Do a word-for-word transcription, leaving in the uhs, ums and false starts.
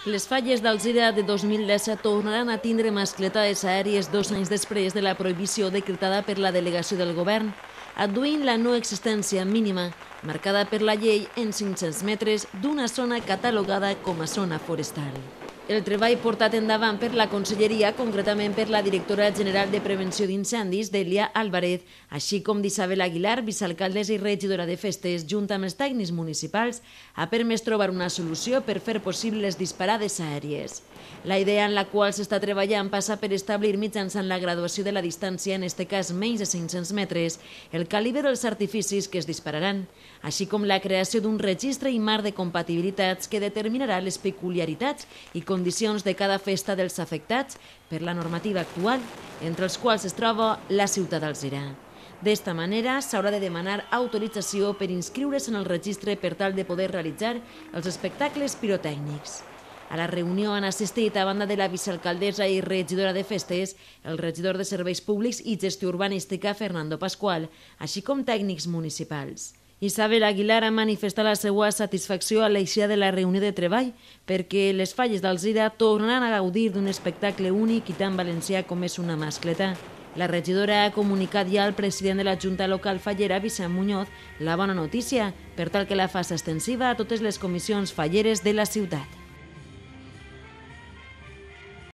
Les falles d'Alzira de dos mil disset tornaran a tindre mascletades aèries dos anys després de la prohibició decretada per la delegació del govern, adduint la no existència mínima, marcada per la llei en cinc-cents metres d'una zona catalogada com a zona forestal. El treball portat endavant per la Conselleria, concretament per la directora general de Prevenció d'Incendis, Delia Álvarez, així com d'Isabel Aguilar, vicealcaldessa i regidora de Festes, junt amb els tècnics municipals, ha permès trobar una solució per fer possible les disparades aèries. La idea en la qual s'està treballant passa per establir mitjançant la graduació de la distància, en aquest cas menys de cinc-cents metres, el calibre dels artificis que es dispararan, així com la creació d'un registre i marc de compatibilitats que determinarà les peculiaritats i condicions de cada festa dels afectats per la normativa actual, entre els quals es troba la ciutat d'Alzira. D'esta manera, s'haurà de demanar autorització per inscriure's en el registre per tal de poder realitzar els espectacles pirotècnics. A la reunió han assistit, a banda de la vicealcaldessa i regidora de Festes, el regidor de Serveis Públics i Gestió Urbanística, Fernando Pascual, així com tècnics municipals. Isabel Aguilar ha manifestat la seva satisfacció a l'eixida de la reunió de treball perquè les falles d'Alzira tornaran a gaudir d'un espectacle únic i tan valencià com és una mascleta. La regidora ha comunicat ja al president de la Junta Local Fallera, Vicent Muñoz, la bona notícia, per tal que la faci extensiva a totes les comissions falleres de la ciutat.